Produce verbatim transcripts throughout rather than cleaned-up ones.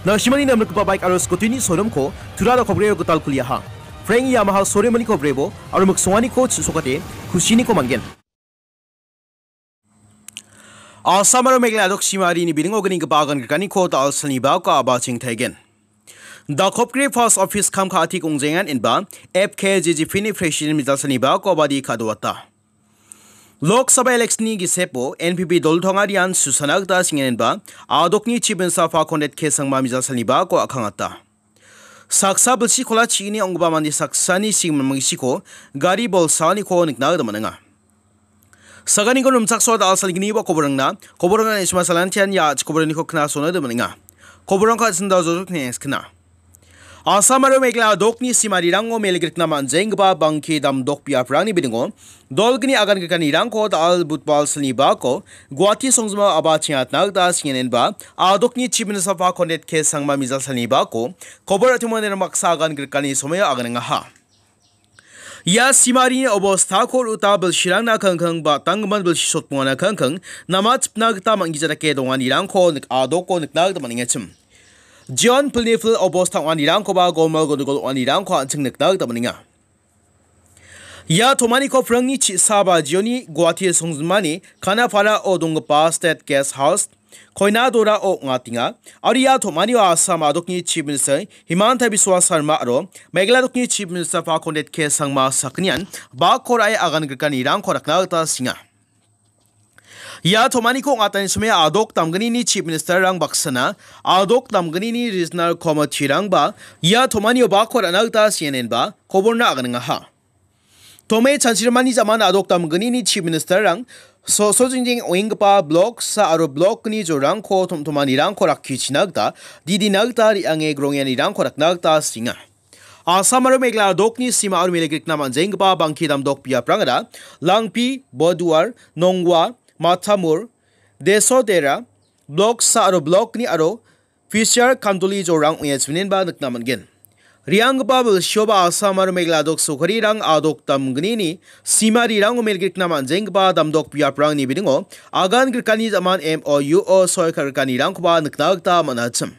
Nasimani namrikgipa baik aro scooty-ni showroom-ko Tura dakopgreo gital kuliaha. Frank Yamaha showroom-oniko brebo aro miksonganiko chisokate kusiniko man·gen. Assam aro Meghalaya dok simarini biringo gninggipa agan grikaniko da·al salni bako a·bacheng taigen. Dakopgre Post Office kam ka·atik ong·jengan inba F K J G P-ni President mijal salni bako abadi ka·doata. Lok Sabha election-ni gisepo N P P dol tongarian susana gita singen inba adokni Chief Minister Fakondet K Sangma mijal salni bako a·kangata. Saksa bilsi kola chigini ong·gipa mande saksani sigimang gisiko gari bolsaaniko nikna gita man·enga. Saganiko rimchaksoa da·al salgni ba koborangna, koborangna isma salantian ya ach koboraniko knasona gita man·enga. Koborangko asinda jojo knengskna. Assam aro Meghalaya dokni simarirango melgrikna man·jenggipa bangke damdok biaprangni bidingo dolgni agan grikanirangko da·al budbal salni bako Guwahati songjima aba chingatna gita singenenba adokni Chief Minister Fakondet K Sangma mijal salni bako kobor atimani baksa agan grikani somoio aganengaha. Ia simarini obostako ruta bilsirangna kangkang ba tanggimin bilsi sotbongana kangkang nama chipna gita manggija dake donganirangko nik-, adoko nikna gita man·engachim. Jion pilni pil obosta ong·anirangkoba golmal gondogol ong·anirangko an·ching nikna gita man·enga. Ia tomaniko phrangni chi·saba jioni Guwahati songjinmani Khanapara-o donggipa State Guest House, Koinadora-o ong·atenga. Aro ia tomanio Assam adokni Chief Minister Himanta Biswa Sarma aro Meghalaya dokni Chief Minister Fakondet K Sangma sakgnian bakko ra·e agan grikanirangko rakna gita singa. Ia tomaniko ong·atani somoi adok damgnini Chief Minister-rang baksana, adok damgnini Regional Committee-rangba ia tomanio bakko ra·na gita sienenba koborna aganengaha. Tome chanchirimani jaman adok damgnini Chief Minister-rang so-, sojingjing ong·enggipa blok sa aro blokni jorangko tom-, tomanirangko rakkichina gita didina gita re·ange grongianirangko rakna gita singa. Assam aro Meghalaya dokni sima aro mele grikna man·jenggipa bangki damdok biaprangara Langpi, Boduar, Nongwa, Mathamur, Desodera, Blok sa aro Blok ni aro Fisher Kanduli jorang ong·e chiminenba nikna man·gen. Rianggipa bilsioba Assam aro Meghalaya dok sokarirang adok damgnini sima rirango mele grikna man·jenggipa damdok biaprangni bidingo agan grikani jaman M O U o soi ka·grikanirangkoba nikna gita man·achim.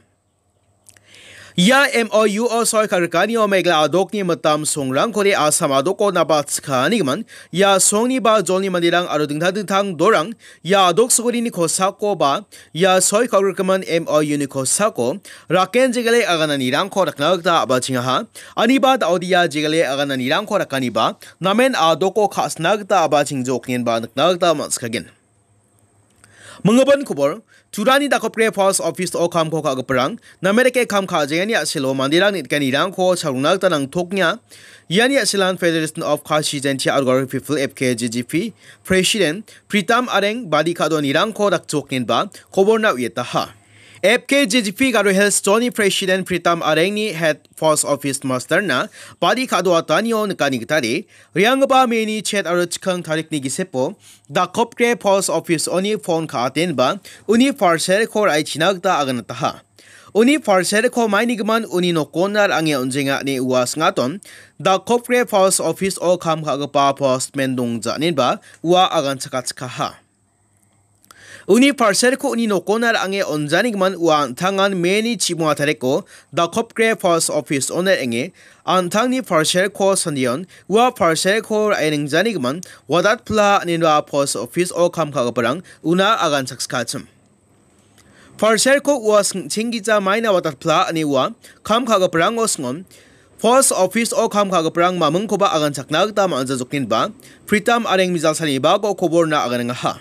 Ia M O U o soi ka·grikanio Meghalaya adokni mitam songrangkode Assam adoko nabatskanigimin, ia songni ba jolni manderang aro dingtang dingtang dorang ia adok sokarini kosako ba ia soi ka·grigimin M O U ni kosako raken jegale agananirangko rakna gita a·bachengaha. Aniba da·odia jegale agananirangko rakaniba namen adoko ka·sina gita a·bachengjoknenba nikna gita man·sikagen. Minggipa kobor, Turani dakopgre Post Office-o kamko ka·giparang, name dake kam ka·jengani a·selo manderang neng·giparangko chagrongna gita nangtoknga. Iani a·selan Federation of Khasi Jaintia Adhikari People, F K J G P, President Pritam Areng badi ka·donirangko dakchoknenba koborna uiataha. F K J G P Garo Hills Zone-ni President Pritam Arengni Head Post Office Master-na badi ka·doatanio nikani gitade, rianggipa May-ni chet aro chikang tarikni gisepo, dakopgre Post Office-oni phone ka·atenba, uni parcel-ko ra·e china gita aganataha. Uni parcel-ko mainigimin uni nokona ra·ange on·jenga ine ua sing·aton, dakopgre Post Office-o kam ka·gipa postman dongja inenba ua aganchakachikaha. Uni parcel-ko uni nokona ra·ange on·janigimin ua an·tangan May-ni chimonga tariko dakopgre Post Office-ona ong·e, an·tangni parcel-ko sandion ua parcel-ko ra·e ningjanigimin wadatpla inenba Post Office-o kam ka·giparang una aganchaksikachim. Parcel-ko ua sing·chenggija maina wadatpla ine ua kam ka·giparango singon, Post Office-o kam ka·giparang mamingkoba aganchakna gita man·jajoknenba, Pritam Areng mijal salni bako koborna aganengaha.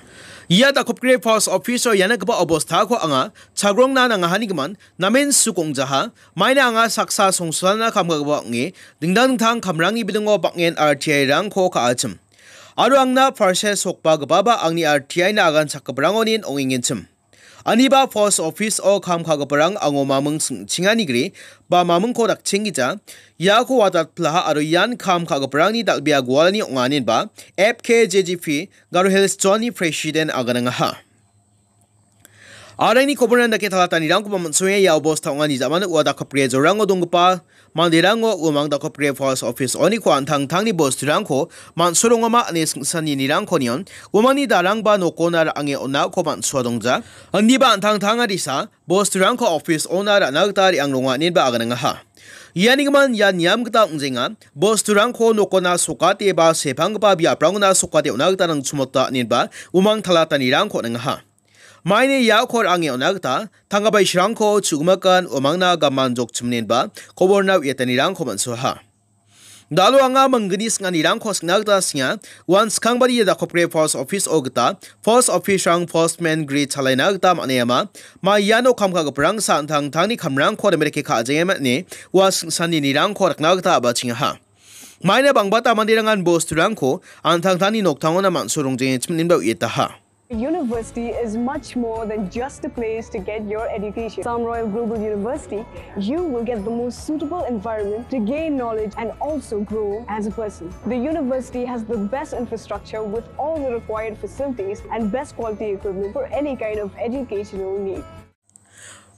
Ia dakopgre Post Office-o ia nikgipa obostako anga chagrongna nangahanigimin namen suk ong·jaha, maina anga saksa songsalna kam ka·gipa ong·e, dingtang dingtang kamrangni bidingo bang·en R T I-rangko ka·achim. Aro angna parcel sokbagipaba angni R T I-na aganchakgiparangonin ong·engenchim. Aniba Post Office-o kam ka·giparang ango maming sing·chenganigri ba mamingko dakchenggija, iako wadatplaha aro ian kam ka·giparangni dal·bea gualani ong·a inenba F K J G P Garo Hills Zone-ni President aganengaha. Araini koborna dake talatanirangkoba man·soenga ia obosta ong·ani ja·mano ua dakopgre jorango donggipa manderango uamang dakopgre post office oniko an·tangtangni bosturangko man·sorongama ine singsanirangko nion uamangni darangba nokona ra·ange on·ako man·soa dongja. Indiba an·tangtang adisa bosturangko office ona ra·na gita re·ang ronga ineba aganangaha. Ianigimin ia niam gita ong·genga. Bosturangko nokona sokate ba sepanggipa biaprangona sokate on·a gita nangchimota ineba uamang talatanirangko on·angaha. Maini iako ra·ange on·a gita tanggabaisrangko chu·gimakan uamangna gaman jokchimnenba koborna uiatanirangko man·soaha. Dalo anga manggni sing·anirangko sing·na gita singa. Uan skangbari ia dakopgre post office-o gita post office-rang postman gri chalaina gita man·aiama. Ma iano kam ka·giparang sa an·tangtangni kamrangko remereke ka·jengema ine ua singsanirangko rikna gita a·bachengaha. Maina bangbata manderangan bosturangko an·tangtangni noktangona man·sorongjengechim ineba uietaha. University is much more than just a place to get your education. Assam Royal Global University, you will get the most suitable environment to gain knowledge and also grow as a person. The university has the best infrastructure with all the required facilities and best quality equipment for any kind of educational need.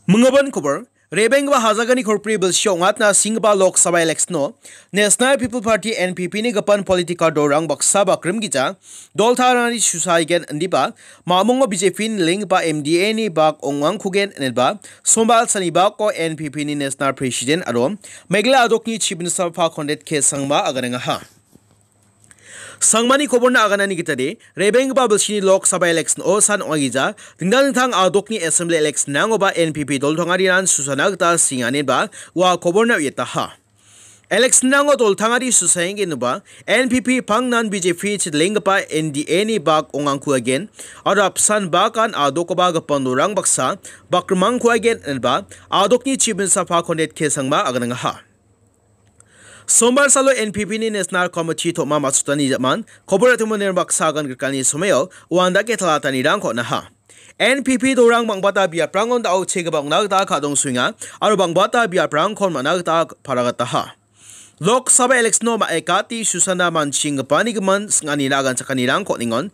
Minggipa kobor, rebenggipa Hajagani korpri bilsio ong·atna singgipa Lok Sabha election-o National People Party, N P P ni gipin political dolrang baksa bakrimgija doltarangni susaigen indiba, mamongo B J P ni lenggipa M D A ni bak ong·angkugen ineba, Sombal salni bako N P P ni National President aro Meghalaya a·dokni Chief Minister Conrad K Sangma aganengaha. Sangmani koborna aganani gitade, rebenggipa bilsini Lok Sabha election-o san ong·agija, dingtang dingtang a·dokni assembly election-rangoba N P P doltangariran susana gita singanenba ua koborna uietaha. Election-rango doltangari susaenggenba N P P pangnan B J P chidlenggipa N D A ni bak ong·angkuagen, aro apsan bakan a·dokoba gipin dolrang baksa bakrimangkuagen ineba a·dokni Chief Minister Conrad K Sangma aganengaha. Sombar salo N P P ni National Committee tom·a matchotani ja·man, kobor atimon baksa agan grikani somao uandake talatanirangko on·aha. N P P dolrang bangbata biaprangon da·o chegipa ong·na gita ka·dongsoenga, aro bangbata biaprangkon man·a gita paragataha. Lok Sabha election-o ma·ekati susana manchinggipanigimon sing·anina aganchakanirangko on·engon.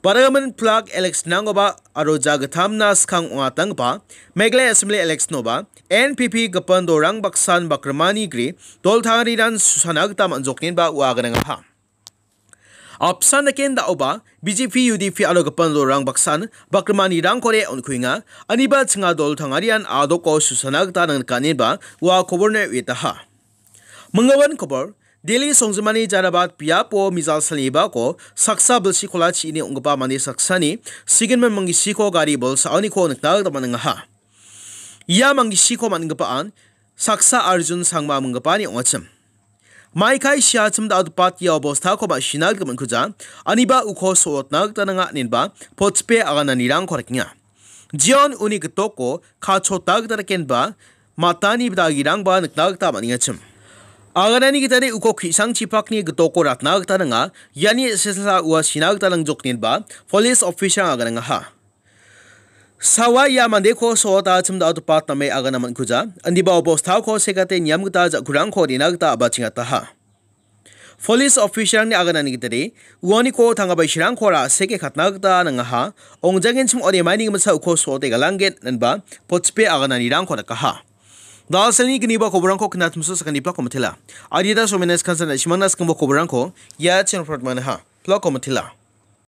Parliament plak election-rangoba aro jagittamna skang ong·atanggipa Meghalaya Assembly election-oba N P P gipin dolrang baksan bakrimani gri doltangariran susana gita man·joknenba ua aganengaha. Apsan daken da·oba B J P, U D P aro gipin dolrang baksan bakrimanirangkode on·kuenga, aniba chinga doltangarian a·doko susana gita nangnikanenba ua koborna uietaha. Minggipa kobor, Delhi songjinmani Jarabat biapo mijal salni bako saksa bilsi kolachi ine ong·gipa mande saksani sigenman manggisiko gari bolsaoniko nikna gita man·engaha. Ia manggisiko man·gipaan saksa Arjun Sangma minggipani ong·achim. Maikai siachim da·odepat ia obostako ma·sina gita man·kuja, aniba uko so·otna gita nanga inenba potspe agananirangko rikenga. Jion uni gitoko kachota gita dakenba matani dagirangba nikna gita man·engachim. Aganani gitade uko ki·sangchipakni gitoko ratna gita nanga, iani sesa ua sina gita nangjoknenba police officer-rang aganengaha. Sawa ia mandeko so·ota chim da·odepat name agana man·kuja, indiba obostako sekate niam gita ja·kurangko rina gita a·bachengataha. Police officer-rangni aganani gitade, uaniko tanggabaisirangko ra·seke katna gita nangaha, ong·jangenchim ode maini gimsa uko so·ote galanggen inenba potspe agananirangko nikaha. Dalselni gniba koborangko knatimso sakani plako mitela. Adita somenes kansan na·simangna skangbo koborangko ia channel-o upload man·aha. Plako mitela.